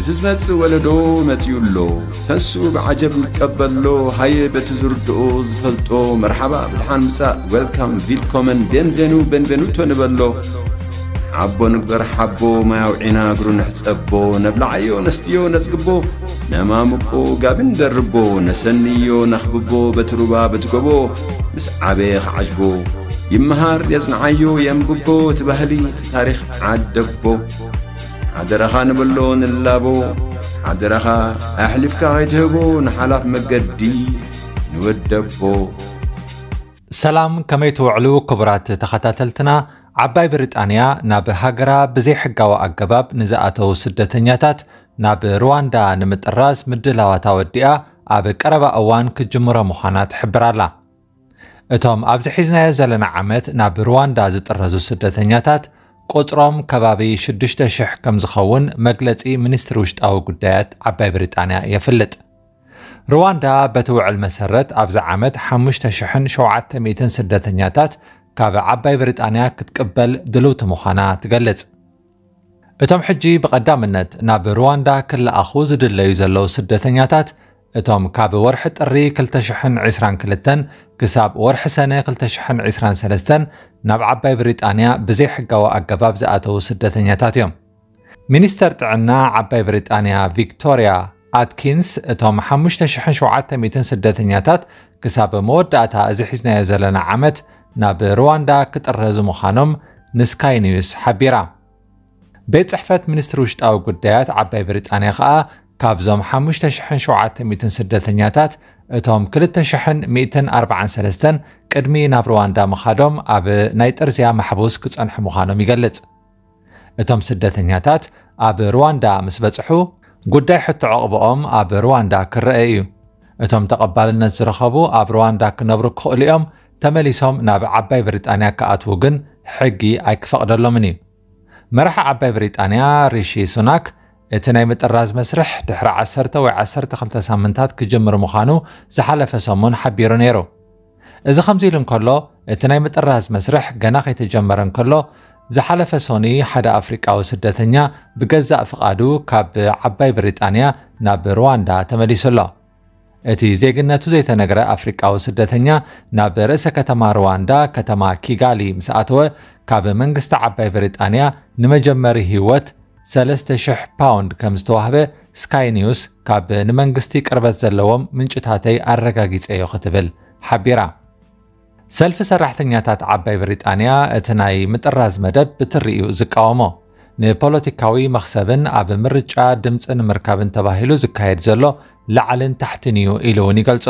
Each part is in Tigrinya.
እቲ ዝመጽእ ወለዶ መጺኡ ኣሎ። ተንስኡ ብዓጀብ ንቀበሎ። ሃየ በቲ ዝርድኦ ዝፈልጦ መርሓባ ብድሓን ምጻእ፣ ዌልካም፣ ቪልኮመን፣ ቤንቬኑ፣ ቤንቬኑቶ ንበሎ። ሓቦ ንግበር ሓቦ፣ ማይ ኣውዒና እግሩ ንሕጸቦ። ነብልዓዮ ነስትዮ ነጽግቦ፣ ነማምቆ ጋቢ ንደርቦ። ነሰንዮ ነኽብቦ በቲ ሩባ በቲ ጎቦ። ምስ ዓበየ ክዓጅቦ ይመሃር የጽንዓዮ የንብቦ። እቲ ባህሊ እቲ ታሪኽ ዓደቦ። ሓደራኻ ንበሎ ንላቦ። ሓደራኻ ኣሕሊፍካ ከይትህቦ ንሓላፍ መገዲ ንወደቦ። ሰላም፣ ከመይ ትውዕሉ ክቡራት ተኸታተልትና? ዓባይ ብሪጣንያ ናብ ሃገራ ብዘይሕጋዊ ኣገባብ ንዝኣተዉ ስደተኛታት ናብ ሩዋንዳ ንምጥራዝ ምድላዋት ኣወዲኣ ኣብ ቀረባ እዋን ክትጅምሮ ምዃና ትሕብር ኣላ። እቶም ኣብዚ ሒዝናዮ ዘለና ዓመት ናብ ሩዋንዳ ዝጥረዙ ስደተኛታት ቁጽሮም ከባቢ ሽዱሽተ ሽሕ ከም ዝኸውን መግለጺ ሚኒስትሪ ውሽጣዊ ጉዳያት ዓባይ ብሪጣንያ የፍልጥ። ሩዋንዳ በቲ ውዕል መሰረት ኣብዚ ዓመት ሓሙሽተ ሽሕን ሸውዓተ ሚእትን ስደተኛታት ካብ ዓባይ ብሪጣንያ ክትቅበል ድልውቲ ምዃና ትገልጽ። እቶም ሕጂ ብቐዳምነት ናብ ሩዋንዳ ክለኣኹ ዝድለዩ ዘለዉ ስደተኛታት እቶም ካብ ወርሒ ጥሪ ክልተ ሽሕን ዕስራን ክልተን ክሳብ ወርሒ ሰነ ክልተ ሽሕን ዕስራን ሰለስተን ናብ ዓባይ ብሪጣንያ ብዘይሕጋዊ ኣገባብ ዝኣተዉ ስደተኛታት እዮም። ሚኒስተር ጥዕና ዓባይ ብሪጣንያ ቪክቶርያ ኣትኪንስ እቶም ሓሙሽተ ሽሕን ሸውዓተ ሚእትን ስደተኛታት ክሳብ መወዳእታ እዚ ሒዝናዮ ዘለና ዓመት ናብ ሩዋንዳ ክጥረዙ ምዃኖም ንስካይ ኒውስ ሓቢራ። ቤት ጽሕፈት ሚኒስትሪ ውሽጣዊ ጉዳያት ዓባይ ብሪጣንያ ከኣ ካብዞም ሓሙሽተ ሽሕን ሸውዓተ ሚእትን ስደተኛታት እቶም ክልተ ሽሕን ሚእትን ኣርባዓን ሰለስተን ቅድሚ ናብ ሩዋንዳ ምኻዶም ኣብ ናይ ጥርዝያ ማሕቡስ ክጸንሑ ምዃኖም ይገልጽ። እቶም ስደተኛታት ኣብ ሩዋንዳ ምስ በጽሑ ጉዳይ ሕቶ ዕቕብኦም ኣብ ሩዋንዳ ክረአ እዩ። እቶም ተቐባልነት ዝረኸቡ ኣብ ሩዋንዳ ክነብሩ ክኽእሉ እዮም። ተመሊሶም ናብ ዓባይ ብሪጣንያ ክኣትዉ ግን ሕጊ ኣይክፈቕደሎምን እዩ። መራሒ ዓባይ ብሪጣንያ ሪሺ ሱናክ እቲ ናይ ምጥራዝ መስርሕ ድሕሪ ዓሰርተ ወይ ዓሰርተ ክልተ ሳምንታት ክጅምር ምዃኑ ዝሓለፈ ሰሙን ሓቢሩ ነይሩ። እዚ ከምዚ ኢሉ እንከሎ፣ እቲ ናይ ምጥራዝ መስርሕ ገና ከይተጀመረ እንከሎ፣ ዝሓለፈ ሶኒ ሓደ ኣፍሪቃዊ ስደተኛ ብገዛእ ፍቓዱ ካብ ዓባይ ብሪጣንያ ናብ ሩዋንዳ ተመሊሱ ኣሎ። እቲ ዜግነቱ ዘይተነግረ ኣፍሪቃዊ ስደተኛ ናብ ርእሰ ከተማ ሩዋንዳ፣ ከተማ ኪጋሊ ምስ ኣተወ፣ ካብ መንግስቲ ዓባይ ብሪጣንያ ንመጀመሪ ህይወት ሰለስተ ሽሕ ፓውንድ ከም ዝተዋህበ ስካይ ኒውስ ካብ ንመንግስቲ ቅርበት ዘለዎም ምንጭታተይ ኣረጋጊጸዮ ክትብል ሓቢራ። ሰልፊ ሰራሕተኛታት ዓባይ ብሪጣንያ እቲ ናይ ምጥራዝ መደብ ብትሪኡ ዝቃወሞ፣ ንፖለቲካዊ መኽሰብን ኣብ ምርጫ ድምፂ ንምርካብን ተባሂሉ ዝካየድ ዘሎ ላዕልን ታሕትን እዩ ኢሉ እውን ይገልጾ።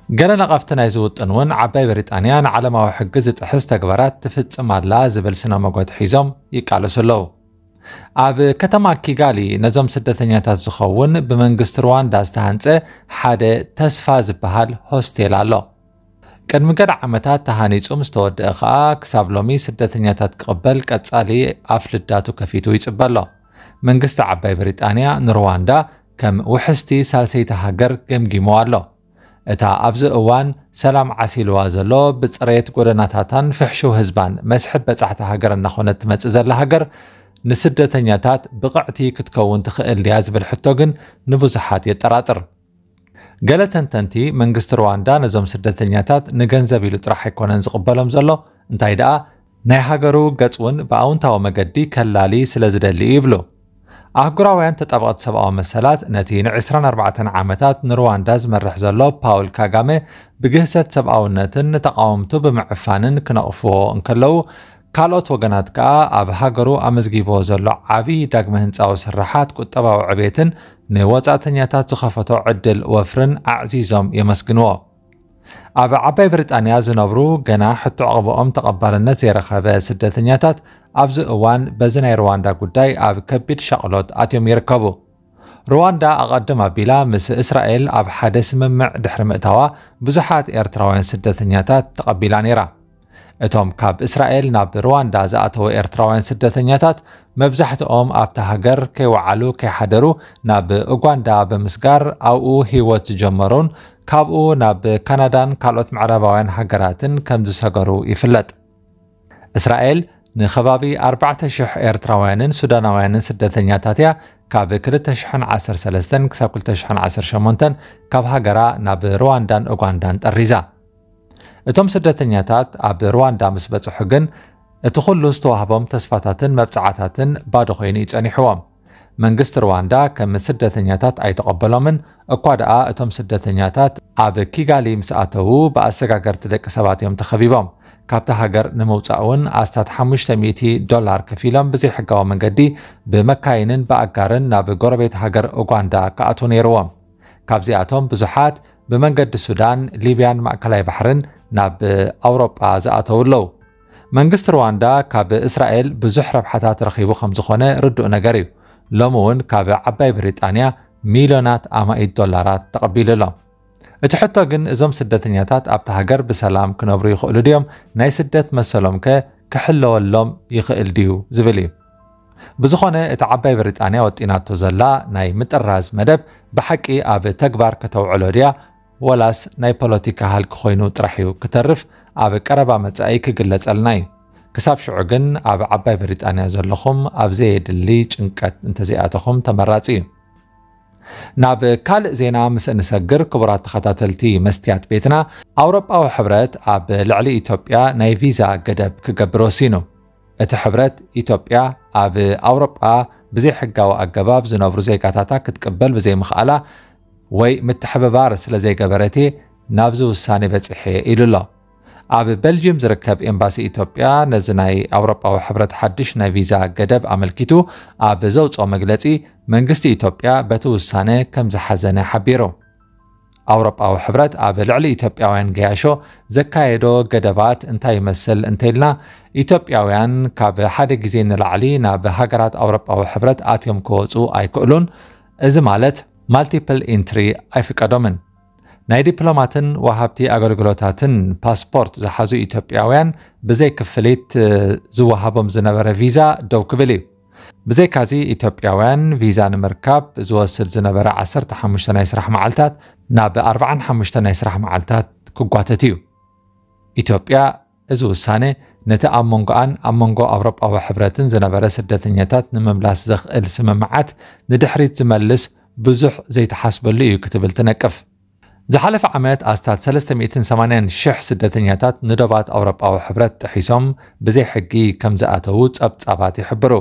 ገለ ነቐፍቲ ናይዚ ውጥን እውን ዓባይ ብሪጣንያ ንዓለማዊ ሕጊ ዝጥሕስ ተግባራት ትፍጽም ኣላ ዝብል ስነ መጎት ሒዞም ይቃለሱ ኣለዉ። ኣብ ከተማ ኪጋሊ ነዞም ስደተኛታት ዝኸውን ብመንግስቲ ሩዋንዳ ዝተሃንጸ ሓደ ተስፋ ዝበሃል ሆስቴል ኣሎ። ቅድሚ ገለ ዓመታት ተሃኒጹ ምስ ተወደአ ከኣ ክሳብ ሎሚ ስደተኛታት ክቕበል ቀጻሊ ኣፍ ልዳቱ ከፊቱ ይጽበ ኣሎ። መንግስቲ ዓባይ ብሪጣንያ ንሩዋንዳ ከም ውሕስቲ ሳልሰይቲ ሃገር ገምጊሞ ኣሎ። እታ ኣብዚ እዋን ሰላም ዓሲልዋ ዘሎ ብጽሬት ጎደናታታን ፍሕሹው ህዝባን መስሕብ በጻሕቲ ሃገር እናኾነት ትመጽእ ዘላ ሃገር ንስደተኛታት ብቕዕቲ ክትከውን ትኽእል ድያ ዝብል ሕቶ ግን ንብዙሓት የጠራጥር። ገለ ተንተንቲ መንግስቲ ሩዋንዳ ነዞም ስደተኛታት ንገንዘብ ኢሉ ጥራሕ ኣይኮነን ዝቕበሎም ዘሎ፣ እንታይ ደኣ ናይ ሃገሩ ገጽ እውን ብኣውንታዊ መገዲ ከላሊ ስለ ዝደሊ እዩ ይብሉ። ኣህጉራውያን ተጣበቕቲ ሰብኣዊ መሰላት ነቲ ን ዕስራን ኣርባዕተን ዓመታት ንሩዋንዳ ዝመርሕ ዘሎ ፓውል ካጋመ ብግህሰት ሰብኣውነትን ንተቓወምቱ ብምዕፋንን ክነቕፍዎ እንከለዉ፣ ካልኦት ወገናት ከኣ ኣብ ሃገሩ ኣመዝጊብዎ ዘሎ ዓቢ ዳግመ ህንጻዊ ስርሓት ቁጠባዊ ዕቤትን ንወጻእተኛታት ዝኸፈቶ ዕድል ወፍርን ኣዕዚዞም የመስግንዎ። ኣብ ዓባይ ብሪጣንያ ዝነብሩ ገና ሕቶ ዕቕብኦም ተቐባልነት ዘይረኸበ ስደተኛታት ኣብዚ እዋን በዚ ናይ ሩዋንዳ ጉዳይ ኣብ ከቢድ ሻቕሎት ኣትዮም ይርከቡ። ሩዋንዳ ኣቐድም ኣቢላ ምስ እስራኤል ኣብ ሓደ ስምምዕ ድሕሪ ምእታዋ ብዙሓት ኤርትራውያን ስደተኛታት ተቐቢላ ነይራ። እቶም ካብ እስራኤል ናብ ሩዋንዳ ዝኣተዉ ኤርትራውያን ስደተኛታት መብዛሕትኦም ኣብታ ሃገር ከይወዓሉ ከይሓደሩ ናብ ኡጋንዳ ብምስጋር ኣብኡ ህይወት ዝጀመሩን ካብኡ ናብ ካናዳን ካልኦት ምዕራባውያን ሃገራትን ከም ዝሰገሩ ይፍለጥ። እስራኤል ንከባቢ ኣርባዕተ ሽሕ ኤርትራውያንን ሱዳናውያንን ስደተኛታት እያ ካብ ክልተ ሽሕን ዓሰርተ ሰለስተን ክሳብ ክልተ ሽሕን ዓሰርተ ሸሞንተን ካብ ሃገራ ናብ ሩዋንዳን ኡጋንዳን ጠሪዛ። እቶም ስደተኛታት ኣብ ሩዋንዳ ምስ በጽሑ ግን እቲ ኩሉ ዝተዋህቦም ተስፋታትን መብጽዓታትን ባዶ ኮይኑ እዩ ጸኒሕዎም። መንግስቲ ሩዋንዳ ከም ስደተኛታት ኣይተቐበሎምን፣ እኳ ደኣ እቶም ስደተኛታት ኣብ ኪጋሊ ምስ ኣተዉ ብኣሰጋገርቲ ደቂ ሰባት እዮም ተኸቢቦም። ካብቲ ሃገር ንምውጻእ እውን ኣስታት ሓሙሽተ ሚእቲ ዶላር ከፊሎም ብዘይሕጋዊ መንገዲ ብመካይንን ብኣጋርን ናብ ጎረቤት ሃገር ኡጋንዳ ክኣትዉ ነይርዎም። ካብዚኣቶም ብዙሓት ብመንገዲ ሱዳን፣ ሊብያን ማእከላይ ባሕርን ናብ ኣውሮጳ ዝኣተዉ ኣለዉ። መንግስቲ ሩዋንዳ ካብ እስራኤል ብዙሕ ረብሓታት ረኺቡ ከም ዝኾነ ርዱእ ነገር እዩ። ሎሚ እውን ካብ ዓባይ ብሪጣንያ ሚልዮናት ኣማኢት ዶላራት ተቐቢሉ ኣሎ። እቲ ሕቶ ግን እዞም ስደተኛታት ኣብቲ ሃገር ብሰላም ክነብሩ ይኽእሉ ድዮም? ናይ ስደት መሰሎም ከ ክሕለወሎም ይኽእል ድዩ ዝብል እዩ። ብዝኾነ እቲ ዓባይ ብሪጣንያ ወጢናቶ ዘላ ናይ ምጥራዝ መደብ ብሓቂ ኣብ ተግባር ከተውዕሎ ድያ ወላስ ናይ ፖለቲካ ሃልኪ ኮይኑ ጥራሕ እዩ ክተርፍ ኣብ ቀረባ መጻኢ ክግለጸልና እዩ። ክሳብ ሽዑ ግን ኣብ ዓባይ ብሪጣንያ ዘለኹም ኣብ ዘየድሊ ጭንቀት እንተዘይኣተኹም ተመራጺ እዩ። ናብ ካልእ ዜና ምስ እንሰግር ክቡራት ተኸታተልቲ መስትያት ቤትና ኣውሮጳዊ ሕብረት ኣብ ልዕሊ ኢትዮጵያ ናይ ቪዛ ገደብ ክገብር ወሲኑ። እቲ ሕብረት ኢትዮጵያ ኣብ ኣውሮጳ ብዘይሕጋዊ ኣገባብ ዝነብሩ ዜጋታታ ክትቅበል ብዘይምኽኣላ ወይ ምትሕብባር ስለ ዘይገበረት እየ ናብዚ ውሳኔ በጺሐ ኢሉ ኣሎ። ኣብ በልጅየም ዝርከብ ኤምባሲ ኢትዮጵያ ነዚ ናይ ኣውሮጳዊ ሕብረት ሓድሽ ናይ ቪዛ ገደብ ኣመልኪቱ ኣብ ዘውፅኦ መግለፂ መንግስቲ ኢትዮጵያ በቲ ውሳነ ከም ዝሓዘነ ሓቢሩ። ኣውሮጳዊ ሕብረት ኣብ ልዕሊ ኢትዮጵያውያን ገያሾ ዘካየዶ ገደባት እንታይ ይመስል እንተኢልና ኢትዮጵያውያን ካብ ሓደ ግዜ ንላዕሊ ናብ ሃገራት ኣውሮጳዊ ሕብረት ኣትዮም ክወፁ ኣይክእሉን። እዚ ማለት ማልቲፕል ኢንትሪ ኣይፍቀዶምን። ናይ ዲፕሎማትን ወሃብቲ ኣገልግሎታትን ፓስፖርት ዝሓዙ ኢትዮጵያውያን ብዘይ ክፍሊት ዝወሃቦም ዝነበረ ቪዛ ደው ክብል እዩ። ብዘይካዚ ኢትዮጵያውያን ቪዛ ንምርካብ ዝወስድ ዝነበረ ዓሰርተ ሓሙሽተ ናይ ስራሕ መዓልታት ናብ ኣርባዓን ሓሙሽተ ናይ ስራሕ መዓልታት ክጓተት እዩ። ኢትዮጵያ እዚ ውሳነ ነቲ ኣብ መንጎኣን ኣብ መንጎ ኣውሮጳዊ ሕብረትን ዝነበረ ስደተኛታት ንምምላስ ዘኽእል ስምምዓት ንድሕሪት ዝመልስ ብዙሕ ዘይተሓስበሉ እዩ ክትብል ትነቅፍ። ዝሓለፈ ዓመት ኣስታት ሰለስተ ሚእትን ሰማንያን ሽሕ ስደተኛታት ንዶባት ኣውሮጳዊ ሕብረት ጥሒሶም ብዘይ ሕጊ ከም ዝኣተዉ ጸብጻባት ይሕብሩ።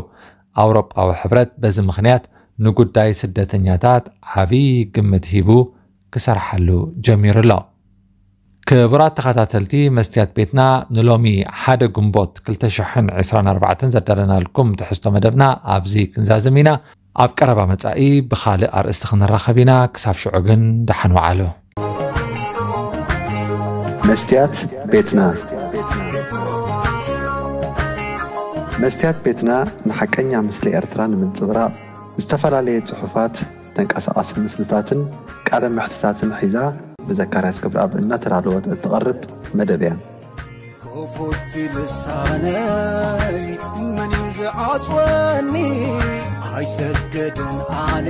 ኣውሮጳዊ ሕብረት በዚ ምኽንያት ንጉዳይ ስደተኛታት ዓቢ ግምት ሂቡ ክሰርሓሉ ጀሚሩ ኣሎ። ክቡራት ተኸታተልቲ መስትያት ቤትና ንሎሚ ሓደ ግንቦት ክልተ ሽሕን ዕስራን ኣርባዕተን ዘዳለናልኩም ትሕዝቶ መደብና ኣብዚ ክንዛዝም ኢና። ኣብ ቀረባ መጻኢ ብኻልእ ኣርእስቲ ክንራኸብ ኢና። ክሳብ ሽዑ ግን ደሓን ወዓሉ። መስትያት ቤትና መስትያት ቤትና ንሓቀኛ ምስሊ ኤርትራ ንምንጽብራቕ ዝተፈላለየ ጽሑፋት፣ ተንቀሳቓሲ ምስልታትን ቃለ መሕትታትን ሒዛ ብዘካርያስ ክብረኣብ እናተዳለወት እትቐርብ መደብ እያ። ክፉት ልሳነይ መን እዩ ዝዓጽወኒ? ኣይሰግድን ኣነ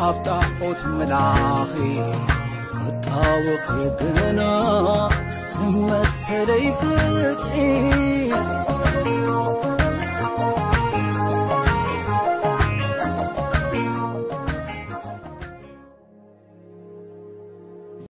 ኣብ ጣዖት ምላኺ ክጣወኺ ግና መሰለይ ፍትሒ